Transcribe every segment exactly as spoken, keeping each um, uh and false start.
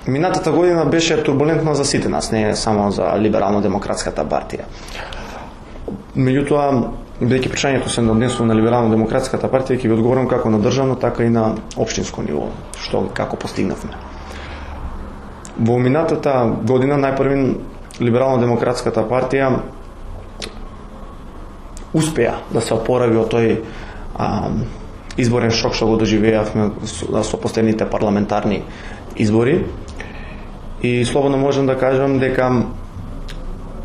Минатата година беше турбулентна за сите нас, не само за Либерално-демократската партија. Меѓутоа, бидејќи прашањето се однесува на Либерално-демократската партија, ќе ви одговорам како на државно, така и на општинско ниво, што како постигнавме. Во минатата година најпрвин Либерално-демократската партија успеа да се опорави од тој а, изборен шок што го доживеавме со, со последните парламентарни избори. И слободно можам да кажам дека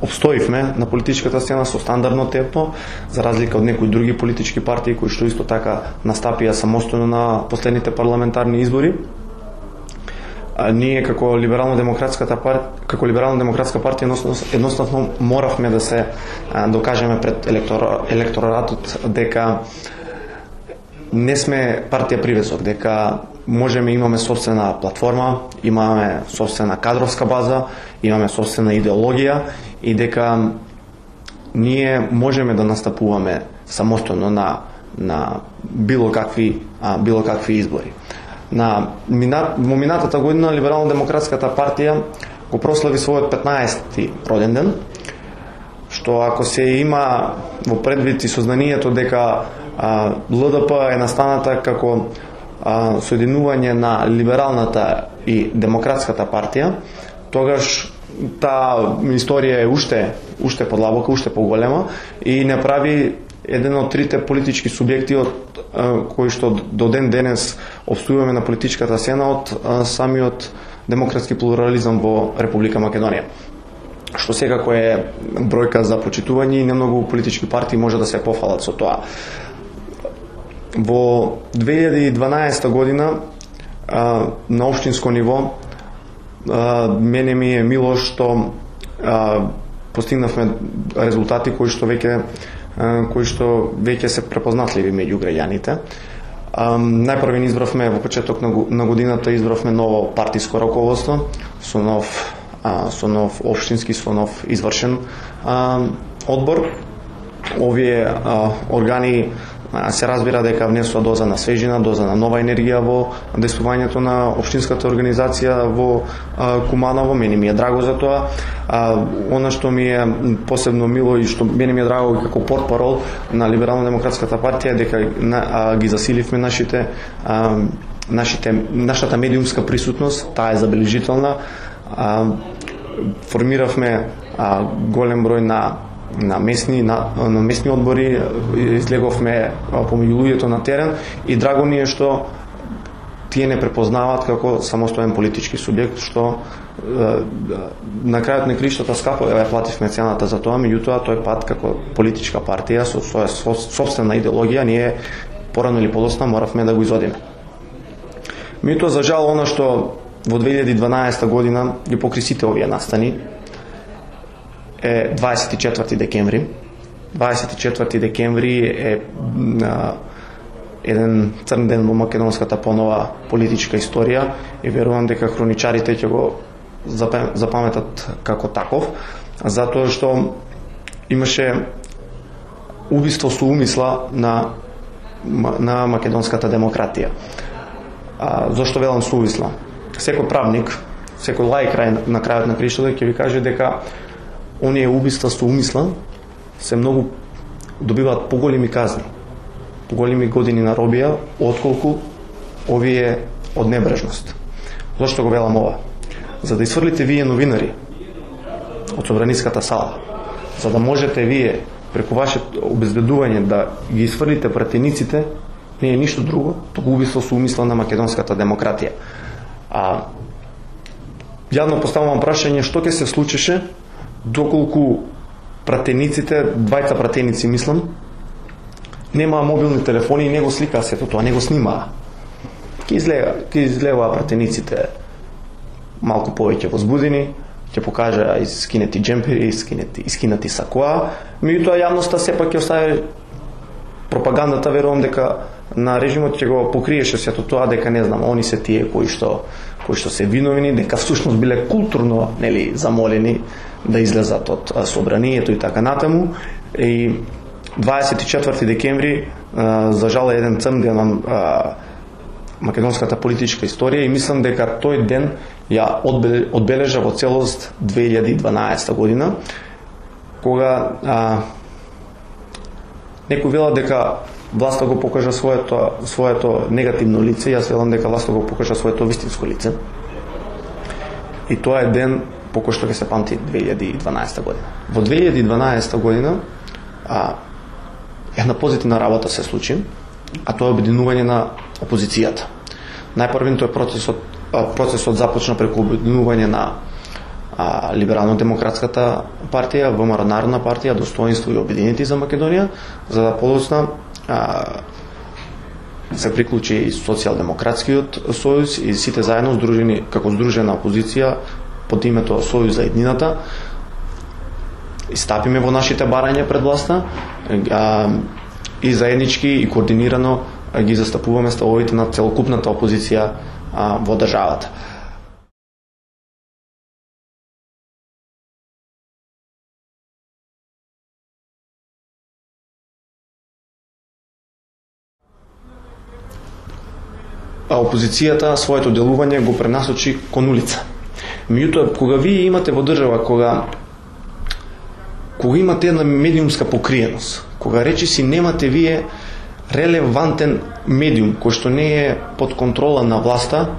обстоивме на политичката сцена со стандардно темпо, за разлика од некои други политички партии кои што исто така настапија самостојно на последните парламентарни избори. А, ние како Либерално-демократската партија, како Либерално-демократска партија едноставно моравме да се а, докажеме пред електор, електоратот дека не сме партија привезок, дека можеме, имаме собствена платформа, имаме собствена кадровска база, имаме собствена идеологија и дека ние можеме да настапуваме самостојно на на било какви а, било какви избори. На минат, во минатата година Либерално-демократската партија го прослави својот петнаесети роден ден, што ако се има во предвид и сознанието дека а, ЛДП е настаната како а, соединување на либералната и демократската партија, тогаш таа историја е уште уште подлабока, уште поголема и не прави еден од трите политички субјекти од а, кои што до ден денес обстојуваме на политичката сцена од а, самиот демократски плурализам во Република Македонија. Што секако е бројка за почитување и немногу политички партии може да се пофалат со тоа. Во две илјади и дванаесета година а, на општинско ниво а, мене ми е мило што а, постигнавме резултати кои што веќе а, кои што веќе се препознатливи меѓу граѓаните. А, најпрвен избравме во почеток на, на годината избравме ново партиско раководство со нов а, со нов општински, со нов извршен а, одбор. Овие а, органи се разбира дека внесува доза на свежина, доза на нова енергија во действувањето на општинската организација во а, Куманово. Мене ми е драго за тоа. А, она што ми е посебно мило и што мене ми е драго како портпарол на Либерално-демократската партија дека на, а, ги засиливме нашите а, нашите нашата медиумска присутност, таа е забележителна. А, формиравме а, голем број на на месни на, на месни одбори, излеговме помеѓу луѓето на терен и драго ни е што тие не препознаваат како самостоен политички субјект, што е, на крајот на криштата скапо ја плативме цената за тоа, меѓутоа тој пат како политичка партија со своја собствена идеологија ние порано или подоцна моравме да го изодиме. Меѓутоа за жал она што во две илјади и дванаесета година ги покри сите овие настани е дваесет и четврти декември. дваесет и четврти декември е а, еден црн ден во македонската понова политичка историја и верувам дека хроничарите ќе го запаметат како таков, затоа што имаше убиство со умисла на на македонската демократија. А, зошто велам со умисла? Секој правник, секој лаик на крајот на криштата ќе ви каже дека оние убиства со умисла се многу добиваат поголеми казни, поголеми години на робија, отколку овие од небрежност. Зошто го велам ова? За да изфрлите вие новинари од собраниската сала, за да можете вие преку вашето обезбедување да ги изфрлите пратениците, не е ништо друго, туку убиство со умисла на македонската демократија. А јавно поставувам прашање што ќе се случише доколку пратениците, двајца пратеници мислам, немаа мобилни телефони и не го сликаа сето тоа, не го снимаа. Ке излега, ке излегаа пратениците малку повеќе возбудени, ќе покажа искинети джемпери, искинети, искинати сакоа, меѓутоа јавноста сепак ќе остави пропагандата, верувам дека на режимот ќе го покриеше сето тоа, дека не знам, они се тие кои што кои што се виновни, дека всушност биле културно, нели, замолени да излезат од собранието и така натаму. И дваесет и четврти декември за жал е еден црн ден на македонската политичка историја и мислам дека тој ден ја одбележа во целост две илјади и дванаесета година, кога а, некој вела дека власта го покажа своето своето негативно лице, јас велам дека власта го покажа своето вистинско лице. И тоа е ден по кој што ќе се памти две илјади и дванаесета година. Во две илјади и дванаесета година а, една позитивна работа се случи, а тоа е обединување на опозицијата. Најпрвен тој процесот процесот започна преку обединување на а, Либерално-демократската партија, ВМРО Народна партија, Достоинство и Обединети за Македонија, за да подоцна а, се приклучи и Социјалдемократскиот сојуз и сите заедно здружени како здружена опозиција под името Сојуз за еднината и стапиме во нашите барања пред власта а, и заеднички и координирано а, ги застапуваме ставовите на целокупната опозиција а, во државата. А опозицијата своето делување го пренасочи кон улица. Меѓутоа, кога вие имате во држава, кога кога имате една медиумска покриеност, кога речиси немате вие релевантен медиум кој што не е под контрола на власта,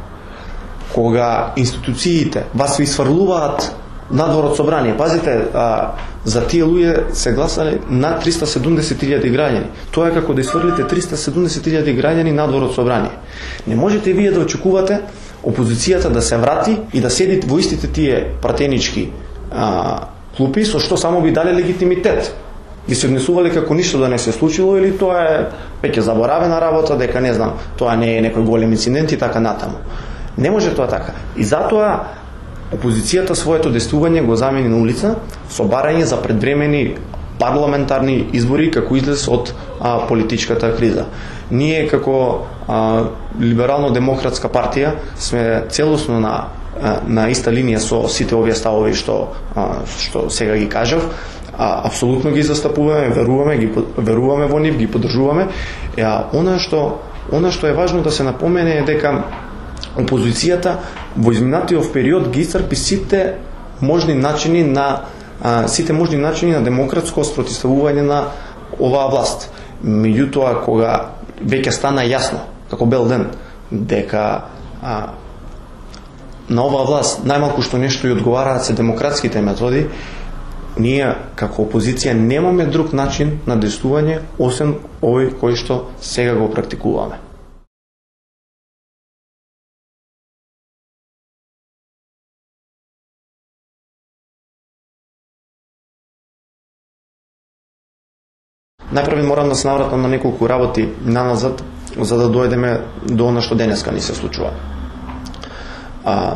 кога институциите вас ви сврлуваат надвор од собрание. Пазите, а, за тие луѓе се гласале над триста седумдесет илјади граѓани. Тоа е како да изфрлите триста седумдесет илјади граѓани надвор од собрание. Не можете вие да очекувате опозицијата да се врати и да седи во истите тие пратенички а, клупи, со што само ви дале легитимитет. Ги се однесувале како ништо да не се случило или тоа е веќе заборавена работа, дека не знам, тоа не е некој голем инцидент и така натаму. Не може тоа така. И затоа опозицијата своето действување го замени на улица со барање за предвремени парламентарни избори како излез од а, политичката криза. Ние како а, Либерално-демократска партија сме целосно на на иста линија со сите овие ставови што а, што сега ги кажав. А, апсолутно ги застапуваме, веруваме, ги веруваме во нив, ги поддржуваме. А, она што она што е важно да се напомене е дека опозицијата во изминатиот период ги исцрпи сите можни начини на а, сите можни начини на демократско спротивставување на оваа власт. Меѓутоа, кога веќе стана јасно, како бел ден, дека а, на оваа власт најмалку што нешто и одговараат се демократските методи, ние како опозиција немаме друг начин на действување освен овој кој што сега го практикуваме. Најпрво морам да се навратам на неколку работи наназад, за да дојдеме до она што денеска ни се случува. А,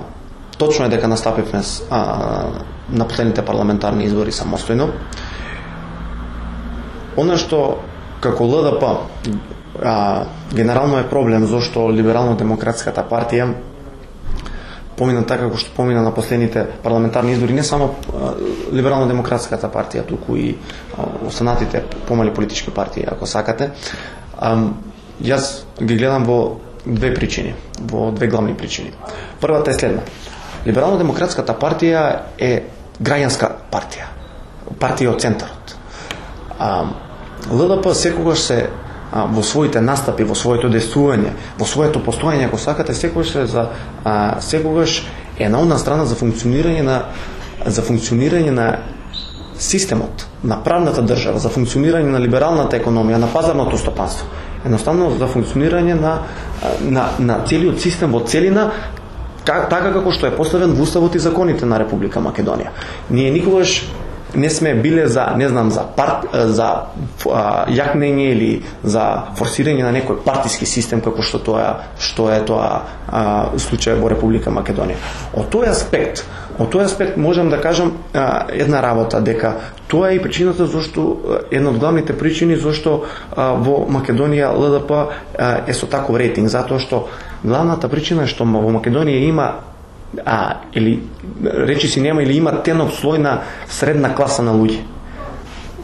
точно е дека настапивме а, на последните парламентарни избори самостојно. Она што како Л Д П а, генерално е проблем зашто Либерално-демократската партија помина така како што помина на последните парламентарни избори, не само Либерално-демократската партија, туку и а, останатите помали политички партии, ако сакате. А, јас ги гледам во две причини, во две главни причини. Првата е следна. Либерално-демократската партија е граѓанска партија, партија од центарот. А, Л Д П секогаш се а, во своите настапи, во своето действување, во своето постоење, ако сакате, секогаш е за а, секогаш е на одна страна за функционирање на за функционирање на системот, на правната држава, за функционирање на либералната економија, на пазарното стопанство. Едноставно за функционирање на на на целиот систем во целина, как, така како што е поставен во уставот и законите на Република Македонија. Ние никогаш не сме биле за, не знам, за парт, за а, јакнење или за форсирање на некој партиски систем како што тоа што е тоа а, случај во Република Македонија. Од тој аспект, од тој аспект можам да кажам а, една работа, дека тоа е и причината зашто една од главните причини зашто а, во Македонија Л Д П а, е со таков рейтинг, затоа што главната причина е што во Македонија има а, или речи си нема или има тенок слој на средна класа на луѓе.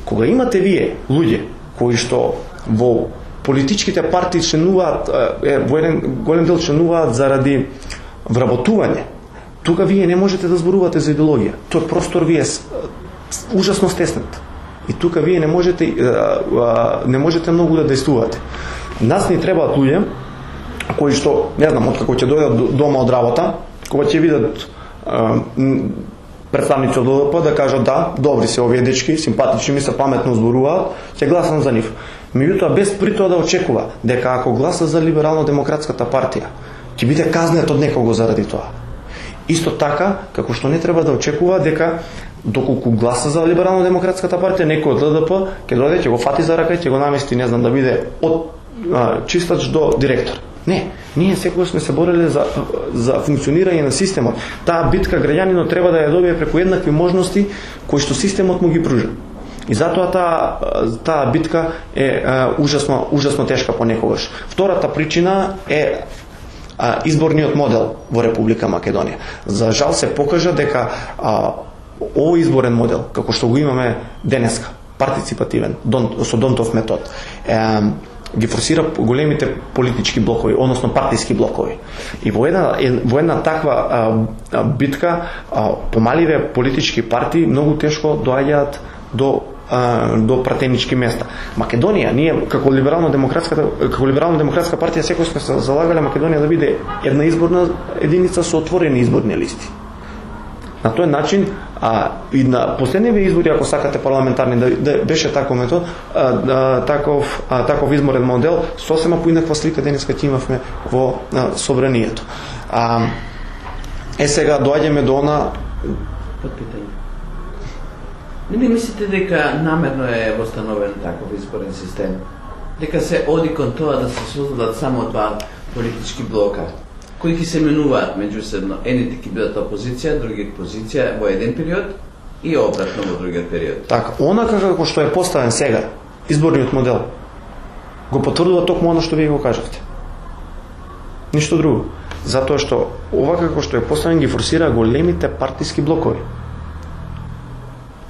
Кога имате вие луѓе кои што во политичките партии членуваат, е, во еден голем дел членуваат заради вработување, тука вие не можете да зборувате за идеологија. Тој простор ви е ужасно стеснат. И тука вие не можете не можете многу да действувате. Нас ни требаат луѓе кои што, не знам, откако ќе дојдат дома од работа, кога ќе видат представници од Л Д П да кажат да, добри се овие дечки, симпатични ми се, паметно зборуваат, ќе гласам за нив. Меѓутоа без при тоа да очекува дека ако гласа за Либерално-демократската партија, ќе биде казнет од некого заради тоа. Исто така, како што не треба да очекува дека доколку гласа за Либерално-демократската партија, некој од Л Д П ќе дојде, ќе го фати за рака и ќе го намести, не знам, да биде од а, чистач до директор. Не, ние секогаш сме се бореле за, за функционирање на системот. Таа битка граѓанинот треба да ја добие преку еднакви можности кои што системот му ги пружа. И затоа таа таа битка е, е ужасно ужасно тешка понекогаш. Втората причина е а, изборниот модел во Република Македонија. За жал се покажа дека а, овој изборен модел, како што го имаме денеска, партиципативен, дон, со Донтов метод, е, ги форсира големите политички блокови, односно партиски блокови. И во една, во една таква а, а, битка а, помаливе политички партии многу тешко доаѓаат до а, до пратенички места. Македонија, ние како либерално-демократската како либерално-демократска партија секој сме се залагале Македонија да биде една изборна единица со отворени изборни листи. На тој начин, а, и на последниве избори, ако сакате парламентарни, да, да беше таков метод, а, да, таков, а, таков изборен модел, сосема поинаква слика денеска ќе имавме во а, собранието. А, е сега доаѓаме до она подпитање. Не ли мислите дека намерно е востановен таков изборен систем? Дека се оди кон тоа да се создадат само два политички блока, кои ќе се менуваат меѓусебно, едните ќе бидат опозиција, другите позиција во еден период и обратно во другиот период. Така, онака како што е поставен сега, изборниот модел, го потврдува токму оно што вие го кажавте. Ништо друго. Затоа што ова како што е поставен ги форсира големите партиски блокови.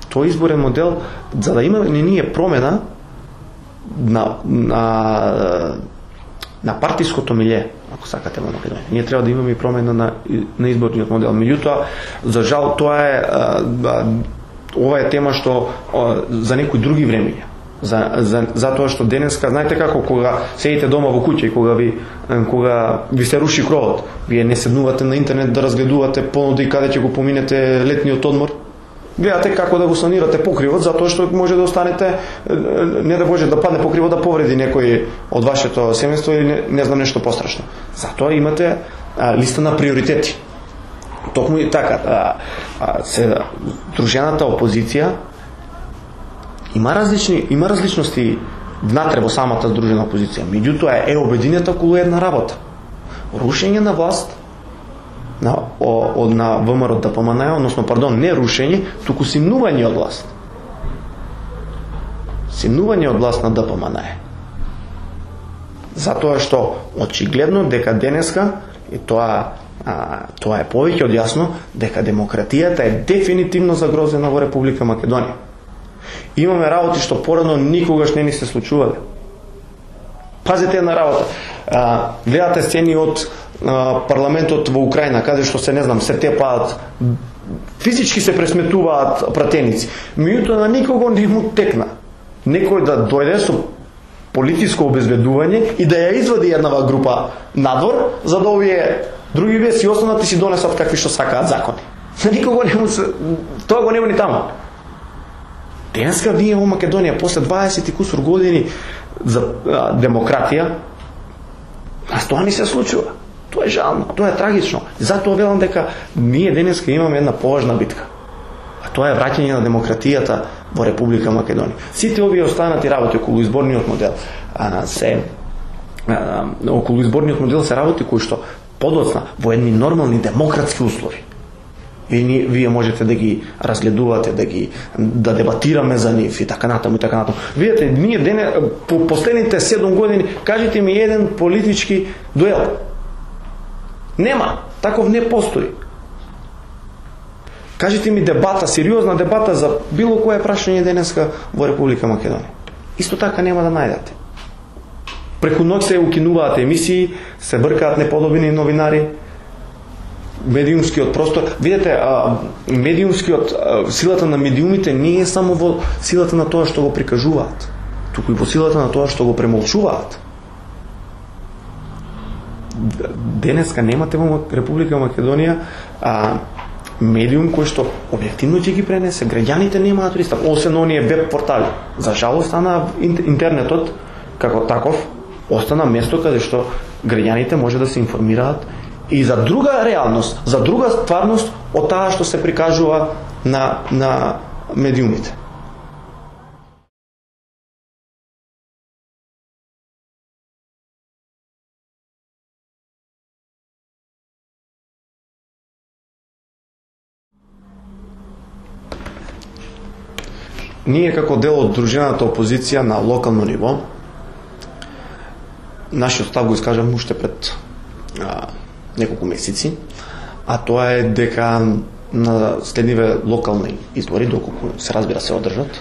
Тој изборен модел, за да има не ние промена на на на партиското милје, ако сакате во Македонија. Ние треба да имаме и промена на, на изборниот модел. Меѓутоа, за жал, тоа е а, а, ова е тема што а, за некои други времења. За, за, затоа што денеска, знаете како, кога седите дома во куќа и кога ви, кога ви се руши кровот, вие не седнувате на интернет да разгледувате понуди каде ќе го поминете летниот одмор, гледате како да го санирате покривот, затоа што може да останете, не да може да падне покривот да повреди некој од вашето семејство или не, не знам нешто пострашно. Затоа имате а, листа на приоритети. Токму и така, а, а, се дружената опозиција има различни има различности внатре во самата здружена опозиција. Меѓутоа е обединета околу една работа. Рушење на власт на од на ВМРО Д П М Н, односно пардон, не рушење, туку симнување од власт. Симнување од власт на Д П М Н. Затоа што очигледно дека денеска и тоа а, тоа е повеќе од јасно дека демократијата е дефинитивно загрозена во Република Македонија. Имаме работи што порано никогаш не ни се случувале. Пазете една работа. А, гледате сцени од а, парламентот во Украина, каде што се не знам, се тепаат, физички се пресметуваат пратеници. Меѓутоа на никого не му текна некој да дојде со политичко обезбедување и да ја извади еднава група надвор, за да овие други вие си останат и си донесат какви што сакаат закони. На никого не му се, тоа го нема ни таму. Денеска ние во Македонија после дваесет и кусур години за а, демократија, а тоа не се случува. Тоа е жално, тоа е трагично. Затоа велам дека ние денеска имаме една поважна битка. А тоа е враќање на демократијата во Република Македонија. Сите овие останати работи околу изборниот модел а, се а, околу изборниот модел се работи кои што подоцна во едни нормални демократски услови. Вие, вие можете да ги разгледувате, да ги да дебатираме за нив и така натаму и така натаму. Видете, ние дене по последните седум години кажете ми еден политички дуел. Нема, таков не постои. Кажете ми дебата, сериозна дебата за било кое прашање денеска во Република Македонија. Исто така нема да најдете. Преку ноќ се укинуваат емисии, се бркаат неподобни новинари. медиумскиот простор. Видете, медиумскиот, силата на медиумите не е само во силата на тоа што го прикажуваат, туку и во силата на тоа што го премолчуваат. Денеска немате во Република Македонија а, медиум кој што објективно ќе ги пренесе, граѓаните немаат пристап, освен оние веб портали. За жалост, стана интернетот како таков остана место каде што граѓаните може да се информираат и за друга реалност, за друга стварност од таа што се прикажува на на медиумите. Ние како дел од дружината опозиција на локално ниво, нашиот став го искажам уште пред а, неколку месеци, а тоа е дека на следниве локални избори, доколку се разбира се одржат,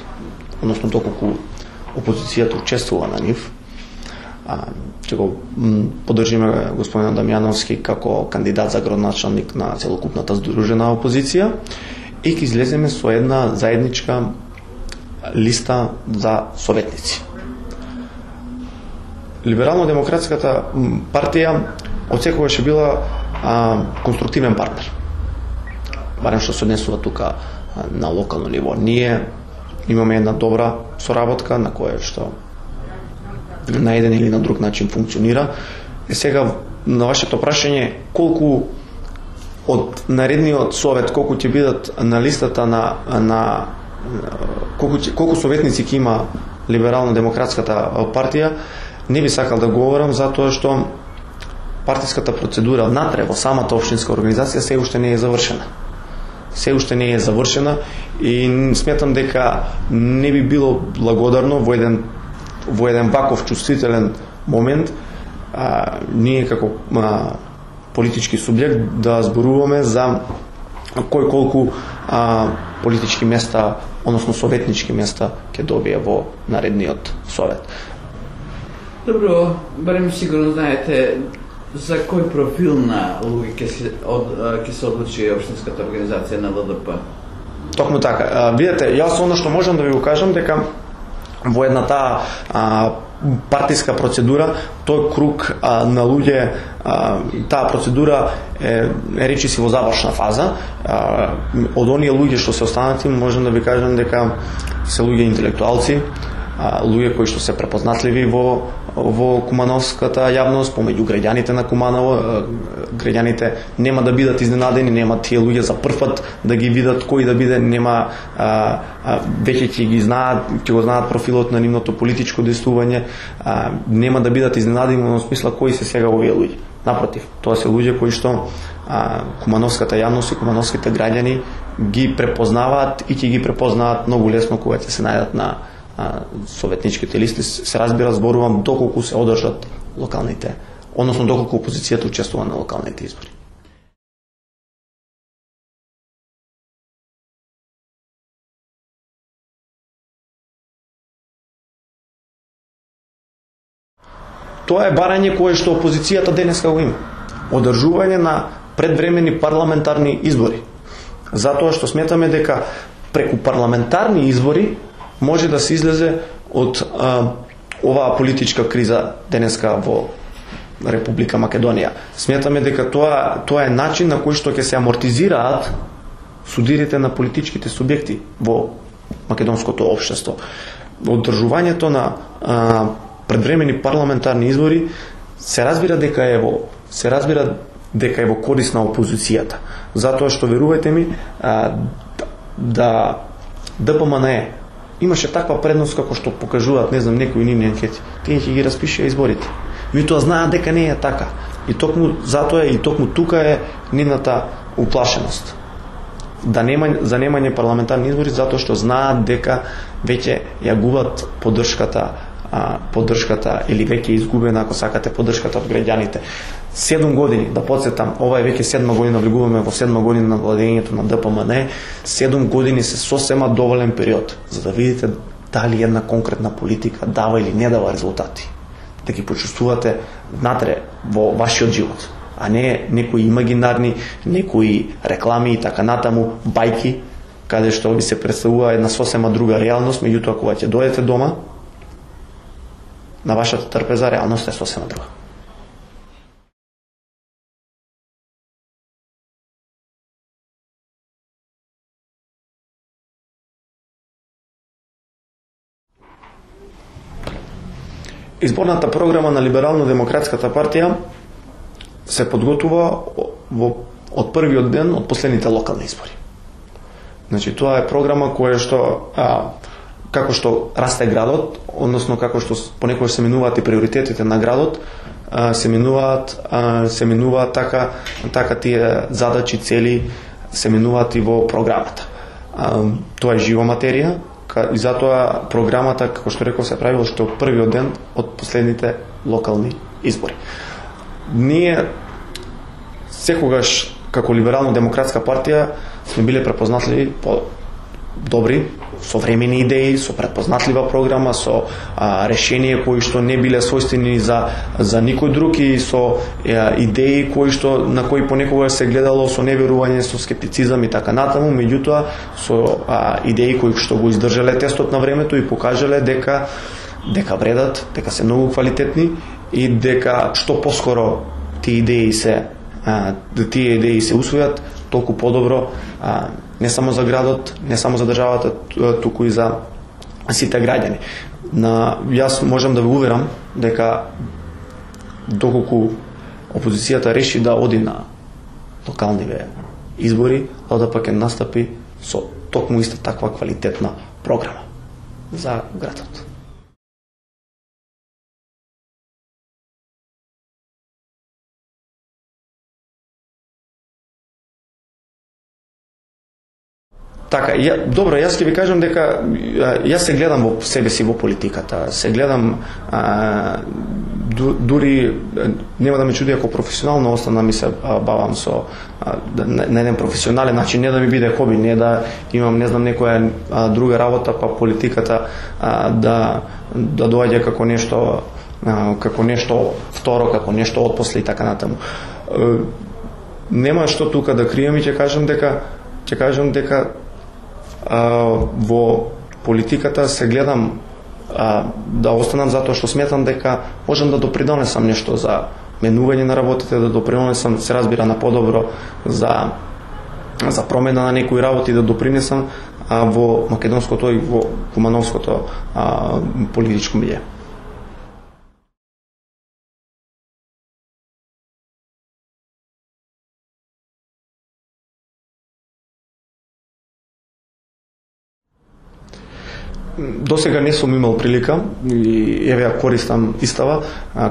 односно доколку опозицијата учествува на нив, а, ќе го поддржиме господин Дамјановски како кандидат за градоначалник на целокупната здружена опозиција и ќе излеземе со една заедничка листа за советници. Либерално-демократската партија отсекогаш е била а, конструктивен партнер. Барем што се однесува тука а, на локално ниво. Ние имаме една добра соработка на која што на еден или на друг начин функционира. И сега на вашето прашање колку од наредниот совет колку ќе бидат на листата на на колку колку советници ќе има либерално-демократската партија, не би сакал да говорам затоа што партиската процедура внатре во самата општинска организација се уште не е завршена. Се уште не е завршена и сметам дека не би било благодарно во еден во еден ваков чувствителен момент а, ние како а, политички субјект да зборуваме за кој колку а, политички места, односно советнички места ќе добие во наредниот совет. Добро, барем сигурно знаете за кој профил на луѓе ќе се од ќе се одлучи општинската организација на Л Д П. Токму така. А, видете, јас она што можам да ви го кажам дека во една таа а, партиска процедура, тој круг а, на луѓе, а, таа процедура е, е речиси во завршна фаза. А, од оние луѓе што се останати, можам да ви кажам дека се луѓе интелектуалци, а, луѓе кои што се препознатливи во во кумановската јавност, помеѓу граѓаните на Куманово. Граѓаните нема да бидат изненадени, нема тие луѓе за прв пат да ги видат кој да биде, нема а, а, веќе ќе ги знаат, ќе го знаат профилот на нивното политичко действување, а, нема да бидат изненадени во смисла кои се сега овие луѓе. Напротив, тоа се луѓе кои што а, кумановската јавност и кумановските граѓани ги препознаваат и ќе ги препознаат многу лесно кога ќе се најдат на советничките листи. Се разбира, зборувам доколку се одржат локалните, односно доколку опозицијата учествува на локалните избори. Тоа е барање кое што опозицијата денеска го има. Одржување на предвремени парламентарни избори. Затоа што сметаме дека преку парламентарни избори може да се излезе од а, оваа политичка криза денеска во Република Македонија. Сметаме дека тоа тоа е начин на кој што ќе се амортизираат судирите на политичките субјекти во македонското општество. Одржувањето на а, предвремени парламентарни избори се разбира дека е во се разбира дека е во корист на опозицијата. Затоа што верувајте ми а, да Д П М Н Е имаше таква предност како што покажуваат, не знам, некои нивни анкети. Тие ќе ги распишеа изборите. Меѓутоа знаат дека не е така. И токму затоа и токму тука е нивната уплашеност. Да нема за немање парламентарни избори затоа што знаат дека веќе ја губат поддршката а, поддршката или веќе изгубена, ако сакате, поддршката од граѓаните. Седум години, да подсетам, ова е веќе седма година, влегуваме во седма година на владењето на Д П М Н Е, седум години се сосема доволен период за да видите дали една конкретна политика дава или не дава резултати. Да ги почувствувате внатре во вашиот живот. а не некои имагинарни, некои реклами и така натаму, бајки, каде што ви се представува една сосема друга реалност, меѓутоа кога ќе дојдете дома, на вашата трпеза реалност е сосема друга. Изборната програма на Либерално-демократската партија се подготува во, од првиот ден од последните локални избори. Значи, тоа е програма која што, а, како што расте градот, односно како што понекогаш се менуваат и приоритетите на градот, а, се менуваат, а, се менуваат така, така тие задачи, цели, се менуваат и во програмата. А, тоа е жива материја, и затоа програмата, како што реков, се прави уште од првиот ден од последните локални избори. Ние секогаш како Либерално-демократска партија сме биле препознатливи по добри, современи идеи, со препознатлива програма, со а, решение кои што не биле својствени за за никој друг и со а, идеи кои што на кои понекогаш се гледало со неверување, со скептицизам и така натаму, меѓутоа со а, идеи кои што го издржале тестот на времето и покажале дека дека вредат, дека се многу квалитетни и дека што поскоро тие идеи се а, тие идеи се усвојат, толку подобро, а, не само за градот, не само за државата, туку и за сите граѓани. На, јас можам да ве уверам дека доколку опозицијата реши да оди на локалниве избори, да пак ќе настапи со токму иста таква квалитетна програма за градот. Така, ја, добро, јас ќе ви кажам дека јас се гледам во себе си во политиката, се гледам а, ду, дури нема да ме чуди ако професионално остана ми се бавам со а, на, на еден професионален начин, не да ми биде хоби, не да имам не знам некоја а, друга работа, па политиката а, да да доаѓа како нешто а, како нешто второ, како нешто отпосле и така натаму. А, нема што тука да крием и ќе кажам дека ќе кажам дека Uh, во политиката се гледам uh, да останам затоа што сметам дека можам да допринесам нешто за менување на работите, да допринесам, се разбира, на подобро за за промена на некои работи, да допринесам uh, во македонското и во кумановското uh, политичко милје. До сега не сум имал прилика и еве ја користам истава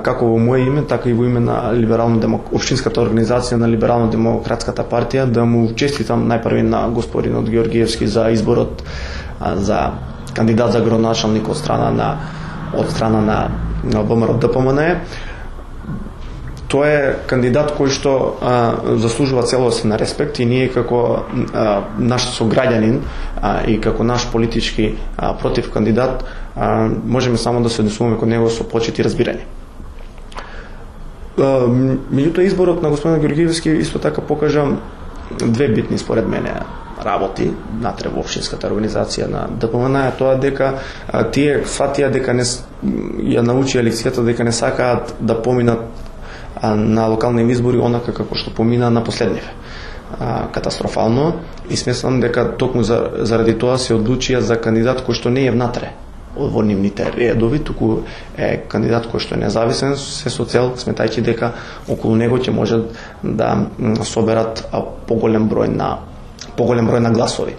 како во моје име, така и во име на либерално општинската организација на Либерално-демократската партија да му честитам најпрви на господинот Георгиевски за изборот за кандидат за градоначалник од страна на од страна на, на ВМРО-ДПМН. Тој е кандидат кој што а, заслужува целосен респект и ние како а, наш сограѓанин а, и како наш политички а, против кандидат а, можеме само да се однесуваме кон него со почит и разбирање. Меѓутоа изборот на господин Георгиевски исто така покажа две битни според мене работи натре во општинската организација на ДПМН, тоа дека а, тие сватија дека не ја научија лекцијата дека не сакаат да поминат на локални избори онака како што помина на последниве. Катастрофално и смеслам дека токму заради тоа се одлучија за кандидат кој што не е внатре во нивните редови, туку е кандидат кој што е независен, се со цел сметајќи дека околу него ќе можат да соберат поголем број на поголем број на гласови.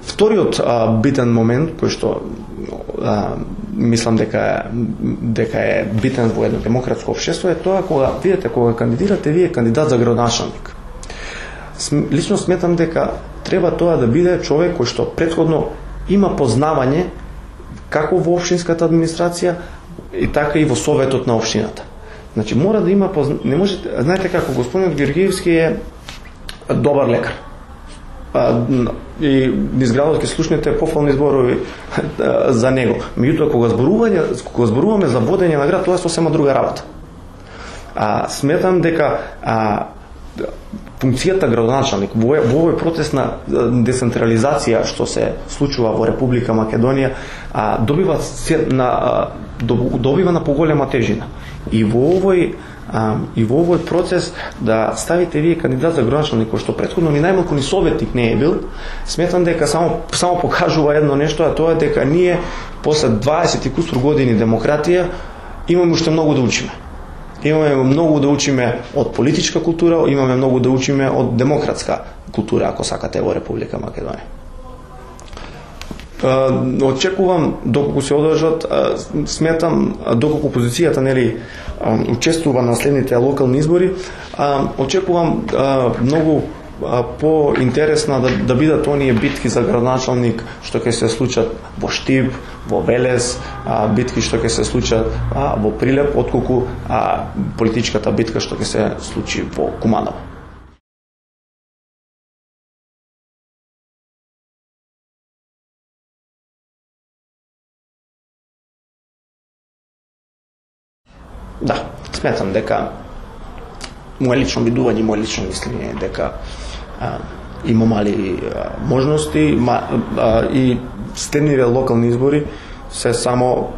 Вториот а, битен момент кој што а, мислам дека дека е битен во едно демократско општество е тоа кога видите кога кандидирате вие кандидат за градоначалник. Лично сметам дека треба тоа да биде човек кој што претходно има познавање како во општинската администрација и така и во советот на општината. Значи мора да има позна... не може, знаете како господинот Георгиевски е добар лекар. И низ градот ќе слушнете пофални зборови за него. Меѓутоа кога зборување, кога зборуваме за водење на град, тоа е сосема друга работа. А, сметам дека а, функцијата градоначалник во овој процес на децентрализација што се случува во Република Македонија а, добива на а, добива на поголема тежина. И во овој а, и во овој процес да ставите вие кандидат за градоначалник кој што претходно ни најмалку ни советник не е бил, сметам дека само само покажува едно нешто, а тоа е дека ние после дваесет и кусур години демократија имаме уште многу да учиме. Имаме многу да учиме од политичка култура, имаме многу да учиме од демократска култура, ако сакате, во Република Македонија. Очекувам доколку се одржат, сметам доколку опозицијата нели учествува на следните локални избори, очекувам многу по-интересна да, да бидат оние битки за градоначалник што ќе се случат во Штип, во Велес, а, битки што ќе се случат а, во Прилеп, отколку а, политичката битка што ќе се случи во Куманово. Да, сметам дека моje лично видување, моje лично мислење е дека а, има мали а, можности ма, а, и следниве локални избори се само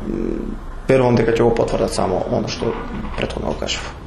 верувам дека ќе го потврдат само оно што претходно го кажав.